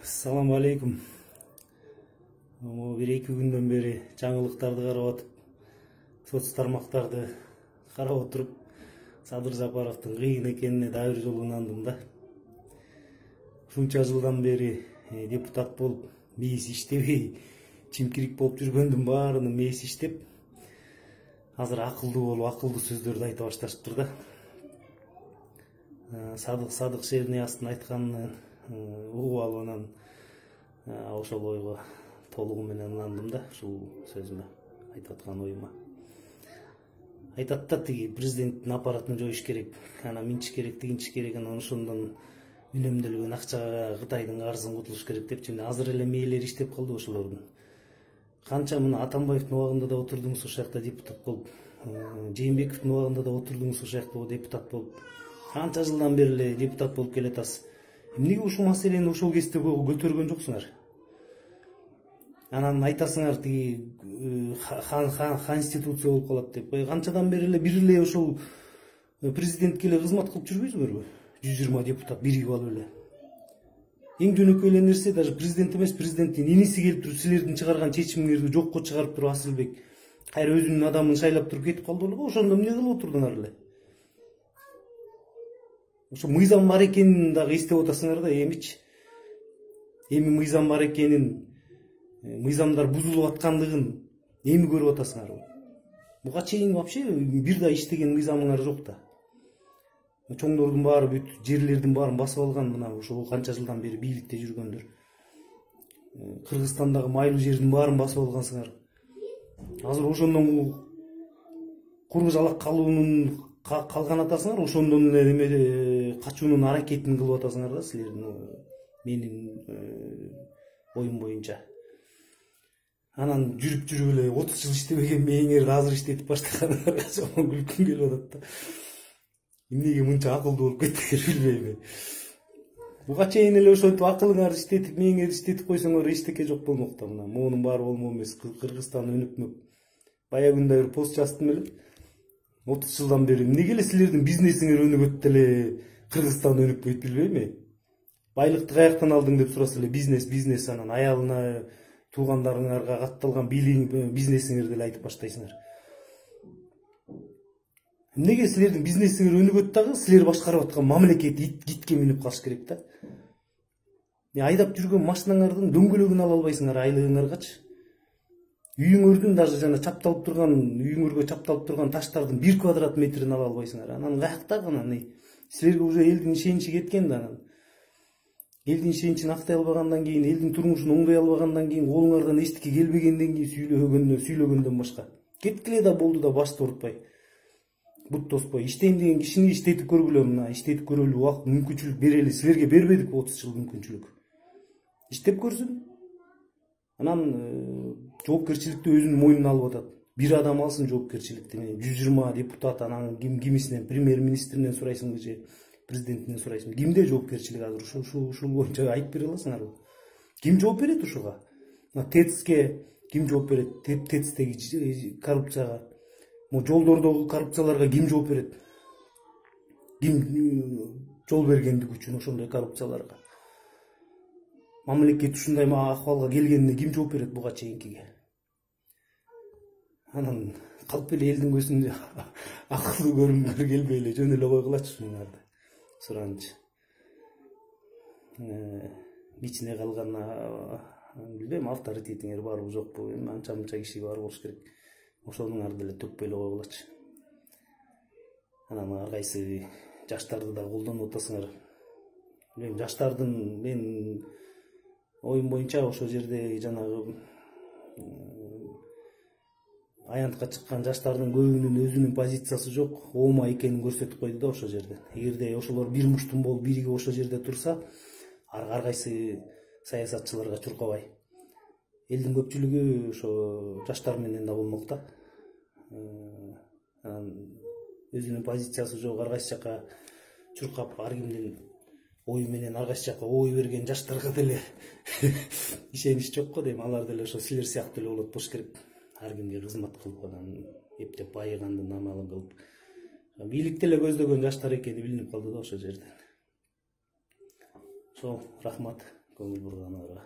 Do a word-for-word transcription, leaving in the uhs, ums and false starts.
Assalamu alaikum. Bir iki günden beri жаңылыктарды карап атып, соц тармактарды карап отуруп, Садыр Жапаровдун кыйын экенине дагы бир жолу ынандым да. Ушунча жылдан бери депутат болуп, мээси иштебей, чимкирик болуп жүргөндүн баарынын мээси иштеп, азыр акылдуу болуп, акылдуу сөздөрдү айта башташыптыр да. Садык Садык Шернияздын айтканын угуп алып анан ошол ойго толугу менен ынандым да, ушул сөзүмө, айтып аткан оюма. Айтат да тиги президенттин аппаратын жоюш керек, анан минчиш керек, тигинчиш керек, анан ошондон үнөмдөлгөн акчага Кытайдын карызын кутулуш керек депчи. Азыр эле мээлери иштеп калды ошолордун. Канча мына Атамбаевдин убагында да отурдуңуз ошол жакта депутат болуп, Жээнбековдун убагында да отурдуңуз ошол жакта депутат болуп. Канча жылдан бери эле депутат болуп келатасыз. Эмнеге ушул маселени ошол кезде көтөргөн жоксуңар? Анан айтасыңар тиги конституция болуп калат деп. Канчадан бери эле бир эле ошол президентке эле кызмат кылып жүрбөйсүңөрбү? жүз жыйырма депутат биригип алып эле. Эң жөнөкөй эле нерсе, даже президент эмес, президенттин иниси келип туруп силердин чыгарган чечимиңерди жокко чыгарып туруп Асылбек кайра өзүнүн адамын шайлап туруп кетип калды беле. Ошондо эмне кылып отурдуңар эле? Ошо мыйзам бар экенин дагы эстеп атасыңар да, эмичи. Эми мыйзам бар экенин, мыйзамдар бузулуп аткандыгын эми көрүп атасыңар. Буга чейин вообще бир да иштеген мыйзамыңар жок да. Чоңдордун баары бүт жерлердин баарын басып алган, мына ошол канча жылдан бери бийликте жүргөндөр. Кыргызстандагы майлуу жердин баарын басып алгансыңар. Азыр ошондон куру жалак калуунун калган атасыңар, ошондон эле неме качуунун аракетин кылып атасыңар да силердин, менин оюм боюнча. Анан жүрүп жүрүп эле отуз жыл иштебеген мээңерди азыр иштетип баштаганыңарга жаман күлкүм келип атат да. Эмнеге мынча акылдуу болуп кеттиңер билбейм. Буга чейин эле ошентип акылыңарды иштетип, мээңерди иштетип койсоңор эчтеке жок болмок да. Мына моунун баары болмок эмес. Кыргызстан өнүкмөк. Баягы күндө бир пост жаздым эле. отуз жылдан бери эмнеге эле силердин бизнесиңер өнүгөт деле Кыргызстан өнүкпөйт билбейм. Байлыкты каяктан алдың деп сураса эле бизнес, бизнес, анан аялына, туугандарыңарга катталган бизнесиңерди эле айтып баштайсыңар. Эмнеге силердин бизнесиңер өнүгөт дагы, силер башкарып аткан мамлекет итке минип калыш керек да. Айдап жүргөн машинаңардын дөңгөлөгүн ала албайсыңар айлыгыңаргачы. Үйүңөрдүн даже жана чапталып турган, үйүңөргө чапталып турган таштардын бир квадрат метрин ала албайсыңар. Анан каяктагы анан силерге уже элдин ишеничи кеткен да анан. Элдин ишеничин актай албагандан кийин, элдин турмушун оңдой албагандан кийин, колуңардан эчтеке келбегенден кийин сүйлөгөндөн, сүйлөгөндөн башка. Кеткиле да болду да башты урутпай. Бут тоспой. Иштейм деген кишини иштетип көргүлө, мына иштетип көрөлү, убакыт, мүмкүнчүлүк берели. Силерге бербедик отуз жыл мүмкүнчүлүк. Иштеп көрсүн. Анан жоопкерчиликти өзүнүн мойнуна алып атат. Бир адам алсын жоопкерчиликти. жүз жыйырма депутат, анан ким кимисинен, премьер-министринен сурайсыңбы же президентинен сурайсыңбы? Кимде жоопкерчилик азыр? Ушул ушул боюнча айтып бере аласыңарбы? Ким жооп берет ушуга? ТЭЦке ким жооп берет? ТЭЦтеги коррупцияга, жолдордогу коррупцияларга ким жооп берет? Ким жол бергендик үчүн ошондой коррупцияларга? Мамлекет ушундай акыбалга келгенине ким жооп берет буга чейинкиге? Анан калп эле элдин көзүндө акылдуу көрүнгүлөр келбей эле жөн эле койгулачы ушуңарды. Суранчы. Кичине калган билбейм, авторитетиңер барбы жокпу? Анча мынча киши бар болуш керек. Ошонуңарды эле төкпөй эле койгулачы. Анан ар кайсы жаштарды да колдонуп атасыңар. Мен жаштардын, мен оюм боюнча ошол жерде жанагы аянтка чыккан жаштардын көбүнүн өзүнүн позициясы жок, оома экенин көрсөтүп койду да ошол жерде. Эгерде ошолор бир муштум болуп биригип ошол жерде турса, ар кайсы саясатчыларга чуркабай. Элдин көпчүлүгү ошо жаштар менен да болмок да. Анан өзүнүн позициясы жок, ар кайсы жака чуркап, ар кимдин ою менен ар кайсы жака ой берген жаштарга деле ишенич жок го дейм. Алар деле ошо силер сыяктуу эле болот болуш керек. Ар кимге кызмат кылып, анан эптеп байыгандын амалын кылып. Бийликти эле көздөгөн жаштар экени билинип калды да ошол жерде. Ошол, рахмат. көңүл бурганыңарга.